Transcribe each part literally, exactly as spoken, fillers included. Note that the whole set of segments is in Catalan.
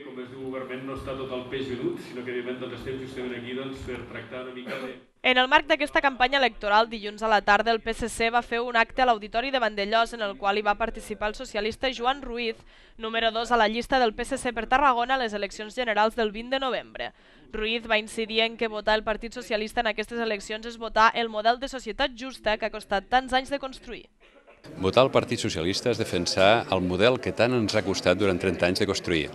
com es diu vulgarment, no està tot el peix venut, sinó que evidentment estem justament aquí per tractar una mica de... En el marc d'aquesta campanya electoral, dilluns a la tarda el P S C va fer un acte a l'Auditori de Vandellòs en el qual hi va participar el socialista Joan Ruiz, número dos a la llista del P S C per Tarragona a les eleccions generals del vint de novembre. Ruiz va incidir en que votar el Partit Socialista en aquestes eleccions és votar el model de societat justa que ha costat tants anys de construir. Votar el Partit Socialista és defensar el model que tant ens ha costat durant trenta anys de construir.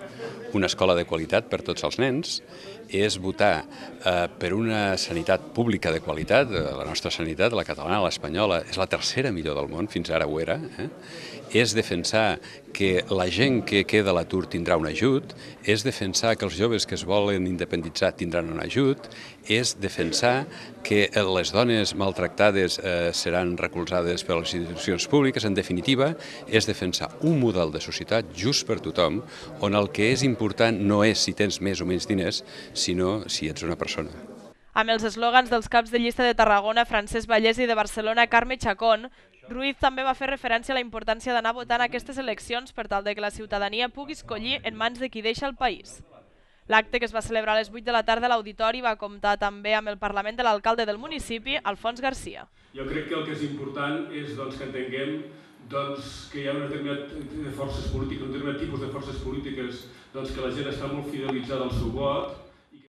Una escola de qualitat per tots els nens, és votar eh, per una sanitat pública de qualitat, la nostra sanitat, la catalana, l'espanyola, és la tercera millor del món, fins ara ho era, eh? És defensar que la gent que queda a l'atur tindrà un ajut, és defensar que els joves que es volen independitzar tindran un ajut, és defensar que les dones maltractades eh, seran recolzades per les institucions públiques. En definitiva, és defensar un model de societat just per tothom, on el que és important no és si tens més o menys diners, sinó si ets una persona. Amb els eslògans dels caps de llista de Tarragona, Francesc Vallès, i de Barcelona, Carme Chacón, Ruiz també va fer referència a la importància d'anar votant aquestes eleccions per tal de que la ciutadania pugui escollir en mans de qui deixa el país. L'acte, que es va celebrar a les vuit de la tarda a l'auditori, va comptar també amb el parlament de l'alcalde del municipi, Alfons Garcia. Jo crec que el que és important és doncs, que entenguem doncs, que hi ha un determinat de forces polítiques, un determinat tipus de forces polítiques doncs, que la gent està molt fidelitzada al seu vot,